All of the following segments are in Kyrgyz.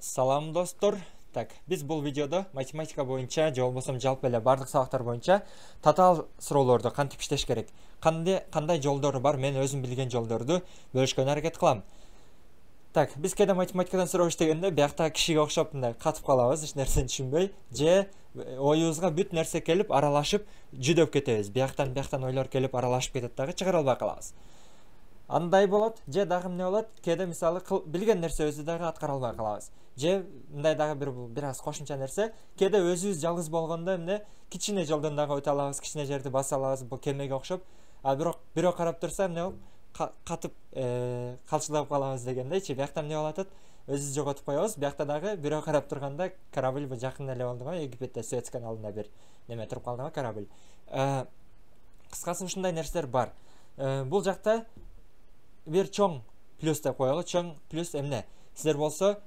Салам достор. Так, биз бул видеодо математика боюнча же болбосо жалпы эле бардык сабактар боюнча татаал суроолорду кантип иштеш керек, кандай жолдору бар, мен өзүм билген жолдорду бөлүшкөнгө аракет кылам. Так, биз кээде математикадан суроо иштегенде биякта кишиге окшоп мындай катып калабыз, эч нерсени түшүнбөй, же оюбузга бүт нерсе келип аралашып жүдөп кетебиз. Бияктан ойлор келип аралашып кетет дагы чыгара албай калабыз. Андай болот, же дагы эмне болот? Кээде мисалы билген нерсебизди дагы аткара албай калабыз. Же мындай дагы бир аз кошумча нерсе, кээде өзүбүз жалгыз болгондо эмне кичине жолдон дагы өтө алабыз, кичине жерди баса алабыз, бул кемеге окшоп. Бирок бирөө карап турса эмне болуп катып калчылдап калабыз дегендейчи. Биякта эмне болуп атат? Өзүбүз жоготуп коебуз. Биякта дагы бирөө карап турганда корабль бул жакын эле болду го, Египетте Суэц каналында бир неме туруп калды го корабль. Кыскасы ушундай нерселер бар. Бул жакта бир чоң плюс деп коелу. Чоң плюс эмне? Силер болсо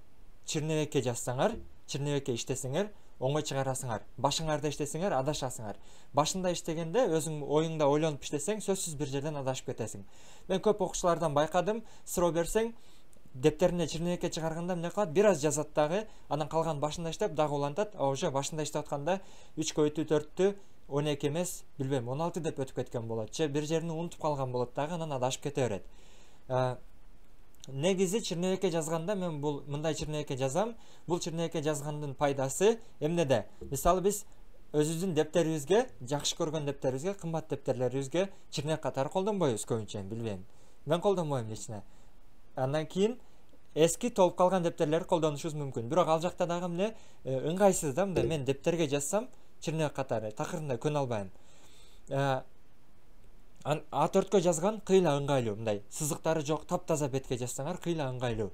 чырнебекке жазсаңар, чырнебекке иштесеңер, оңой чыгарасыңар. Башыңарда иштесеңер, адашасыңар. Башында иштегенде өзүң оюңда ойлонуп иштесең, сөзсүз бир жерден адашып кетесиң. Мен көп окуучулардан байкадым, суроо берсең, дептерине чырнебекке чыгарганда эмне кылат? Бир аз жазат дагы, анан калган башында иштеп дагы улантат. Уже башында иштеп атканда 3 көйтү 4-тү 12 эмес, билбейм, 16 деп өтүп кеткен болот. Же бир жерин унутуп калган болот дагы, анан адашып кете берет. Негизи чырнебекке жазганда мен бул мындай чырнебекке жазам. Бул чырнебекке жазгандын пайдасы эмнеде? Мисалы биз өзүбүздүн дептерибизге, жакшы көргөн дептерибизге, кымбат дептерлерибизге чырнек катары колдонбойбуз көбүнчө, билбейм. Мен колдонбойм лично. Андан кийин эски толуп калган дептерлерди колдонушубуз мүмкүн. Бирок ал жакта дагы эмне ыңгайсыз да, мындай мен дептерге жазсам чырнек катары такырында көнө албайм. А4кө жазган кыйла ыңгайлуу, мындай сызыктары жок таптаза бетке жазсаңар кыйла ыңгайлуу.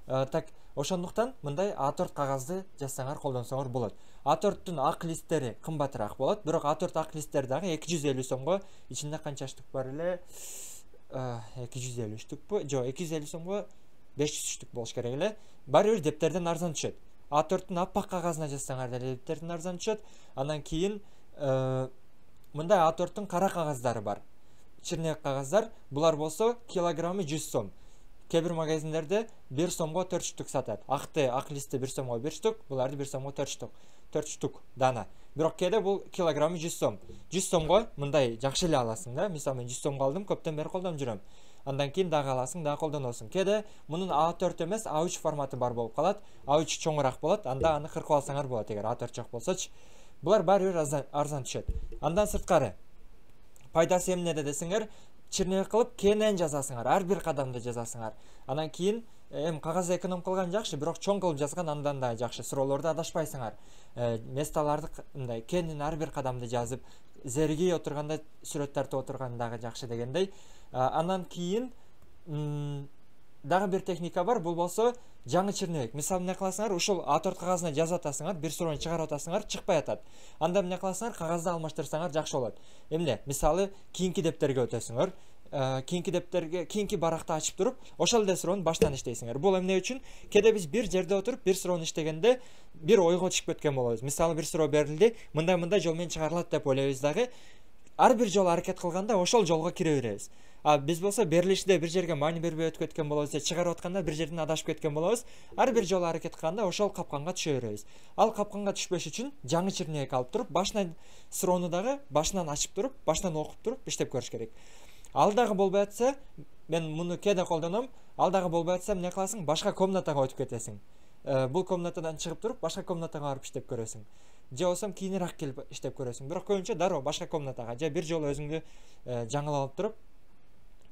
Так, ошондуктан мындай А4 кагазды жазсаңар колдонсоңор болот. А4түн ак листтери кымбатыраак болот, бирок А4 ак листтери дагы 250 сомго, ичинде канча штук бар эле? 250 штукпу? Жок, 250 сомго 500 штук болуш керек эле. Баары бир дептерден арзан түшөт. А4түн аппак кагазына жазсаңар деле дептерден арзан түшөт. Андан кийин мындай А4түн кара кагаздары бар. Чырнек кагаздар, булар болсо килограммы 100 сом. Кээ бир магазиндерде 1 сомго 4 штук сатат. Ак листи 1 сомго 1 штук, буларды 1 сомго 4 штук. 4 штук дана. Бирок кээде бул килограммы 100 сом. 100 сомго мындай жакшы эле аласың да. Мисалы мен 100 сомго алдым, көптөн бери колдонуп жүрөм. Андан кийин дагы аласың, дагы колдоносуң. Кээде мунун А4 эмес, А3 форматы бар болуп калат. А3 чоңураак болот, анда аны кыркып алсаңар болот, эгер А4 жок болсочу. Булар баары бир арзан түшөт. Андан сырткары пайдасы эмнеде десеңер, чырнек кылып кенен жазасыңар, ар бир кадамды жазасыңар. Анан кийин кагазды эконом кылган жакшы, бирок чоң кылып жазган андан да жакшы. Суроолорду адашпайсыңар. Месталарды мындай кенен ар бир кадамды жазып, зеригий отурганда сүрөт тартып отурган дагы жакшы дегендей. Андан кийин дагы бир техника бар, бул болсо жаңы чырнебек. Мисалы эмне кыласыңар, ушул А4 кагазына жазып атасыңар, бир суроону чыгарып атасыңар, чыкпай атат. Анда эмне кыласыңар, кагазды алмаштырсаңар жакшы болот. Эмне? Мисалы кийинки дептерге өтөсүңөр. Кийинки баракты ачып туруп, ошол эле суроону баштан иштейсиңер. Бул эмне үчүн? Кээде биз бир жерде отуруп бир суроону иштегенде бир ойго түшүп кеткен болобуз. Мисалы бир суроо берилди, мындай жол менен чыгарылат деп ойлойбуз дагы. Ар бир жолу аракет кылганда ошол жолго кире беребиз. Биз болсо берилиште бир жерге маани бербей өтүп кеткен болобуз, чыгарып атканда бир жерден адашып кеткен болобуз. Ар бир жолу аракет кылганда ошол капканга түшө беребиз. Ал капканга түшпөш үчүн жаңы чырнебек алып туруп, башынан суроону дагы башынан ачып туруп, башынан окуп туруп иштеп көрүш керек. Ал дагы болбой атса, мен муну кээде колдоном, ал дагы болбой атса эмне кыласың? Башка комнатага өтүп кетесиң. Бул комнатадан чыгып туруп, башка комнатага барып иштеп көрөсүң. Же болсо кийинирээк келип иштеп көрөсүң. Бирок көбүнчө дароо башка комнатага же бир жолу өзүңдү жаңылап алып туруп,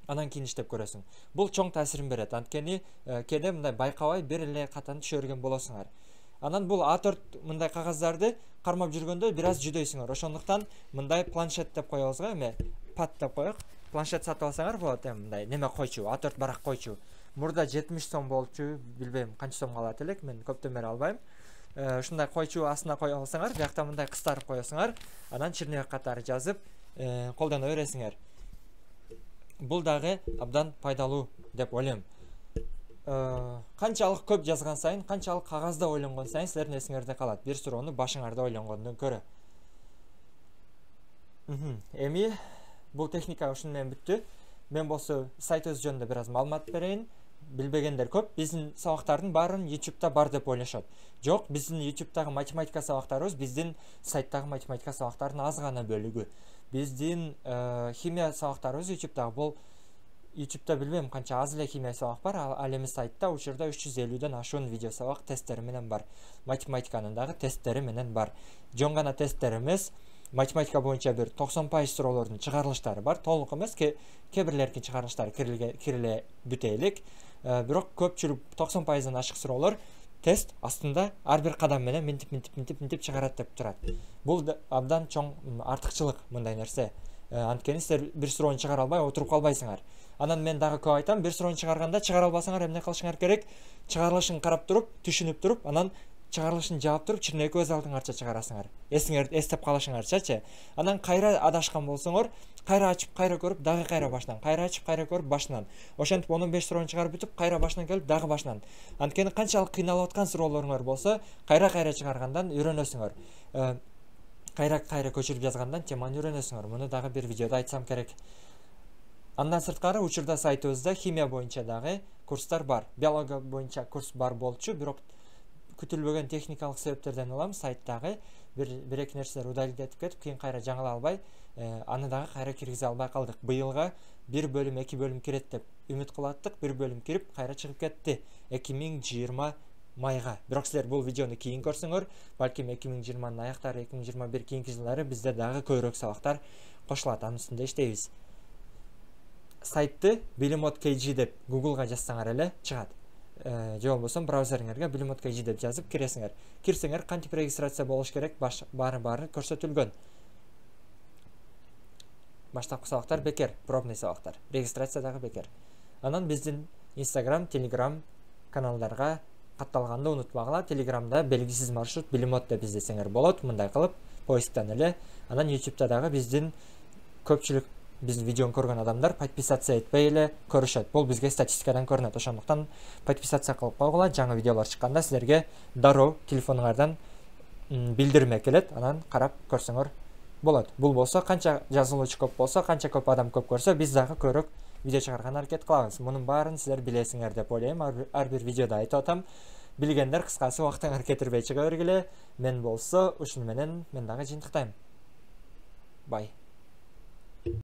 анан кийин иштеп көрөсүң. Бул чоң таасирин берет. Анткени кээде мындай байкабай бир эле катаны түшө берген болосуңар. Анан бул А4 мындай кагаздарды кармап жүргөндө бир аз жүдөйсүңөр. Ошондуктан мындай планшет деп коебуз го, пад деп коёк. Планшет сатып алсаңар болот, мындай неме койчу, А4 барак койчу. Мурда 70 сом болчу, билбейм канча сомго алат элек, мен көптөн бери албайм. Ушундай койчу астына кое алсаңар, биякта мындай кыстарып коесуңар, анан чырнебек катары жазып колдоно бересиңер. Бул дагы абдан пайдалуу деп ойлойм. Канчалык көп жазган сайын, канчалык кагазда ойлонгон сайын силердин эсиңерде калат. Бир суроону башыңарда ойлонгондон көрө. Эми бул техника ушуну менен бүттү. Мен болсо сайтыбыз жөнүндө бир аз маалымат берейин. билбегендер көп. Биздин сабактардын баарын YouTube'да бар деп ойлошот. Жок, биздин YouTube'дагы математика сабактарыбыз биздин сайттагы математика сабактарынын аз гана бөлүгү. Биздин химия сабактарыбыз YouTube'дагы бул YouTube'да билбейм канча аз эле химия сабак бар. Ал эми сайтта учурда 350ден ашуун видео сабак тесттери менен бар. Математиканын дагы тесттери менен бар. Жон гана тесттер эмес, математика боюнча бир 90% суроолордун чыгарылыштары бар. Толук эмес, кээ бирлердин чыгарылыштары кириле бүтө элек. Бирок көпчүлүк 90%дан ашык суроолор тест астында ар бир кадам менен минтип чыгарат деп турат. Бул абдан чоң артыкчылык мындай нерсе. Анткени силер бир суроону чыгара албай отуруп калбайсыңар. Анан мен дагы көп айтам, бир суроону чыгарганда чыгара албасаңар эмне кылышыңар керек? Чыгарылышын карап туруп, түшүнүп туруп, анан чыгарылышын жаап туруп, чирне көз алдыңарча чыгарасыңар. Эстеп калышыңарчачы. Анан кайра адашкан болсоңор, кайра ачып, кайра көрүп, дагы кайра башынан, кайра ачып, кайра көрүп, башынан. Ошентип 15 суроону чыгарып бүтүп, кайра башынан келип, дагы башынан. Анткени канчалык кыйналып аткан суроолоруңар болсо, кайра чыгаргандан үйрөнөсүңөр. Кайра көчүрүп жазгандан теманы үйрөнөсүңөр. Муну дагы бир видеодо айтсам керек. Андан сырткары учурда сайтыбызда химия боюнча дагы курстар бар. Биология боюнча курс бар болчу, бирок күтүлбөгөн техникалык себептерден улам сайттагы бир-эки нерселер удалить этип кетип, кийин кайра жаңыла албай, аны дагы кайра киргизе албай калдык. Быйылга 1 бөлүм, 2 бөлүм кирет деп үмүт кылаттык. 1 бөлүм кирип, кайра чыгып кетти. 2020 майга. Бирок силер бул видеону кийин көрсөңөр, балким 2020-нын аяктары, 2021 кийинки жылдары бизде дагы көбүрөөк сабактар кошулат. Анын үстүндө иштейбиз. Сайтты bilimod.kg деп Google'га жазсаңар эле чыгат. Же болбосо браузериңерге bilimod.kg деп жазып киресиңер. Кирсеңер кантип регистрация болуш керек, баары көрсөтүлгөн. Баштапкы сабактар бекер, пробный сабактар. Регистрация дагы бекер. Анан биздин Instagram, Telegram каналдарга катталганды унутпагыла. Telegramда белгисиз маршрут bilimod деп издесеңер болот. Мындай кылып поисктен эле. Анан YouTube'да дагы биздин көпчүлүк биздин видеону көргөн адамдар подписация этпей эле көрүшөт. Бул бизге статистикадан көрүнөт. Ошондуктан подписация кылып койгула. Жаңы видеолор чыкканда силерге дароо телефонуңардан билдирме келет. Анан карап көрсөңөр болот. Бул болсо канча жазылуучу көп болсо, канча көп адам көп көрсө, биз дагы көбүрөөк видео чыгарганга аракет кылабыз. Мунун баарын силер билесиңер деп ойлойм. Ар бир видеодо айтып атам. Билгендер кыскасы убактыңар кетирбей чыга бергиле. Мен болсо ушуну менен мен дагы жыйынтыктайм. Бай.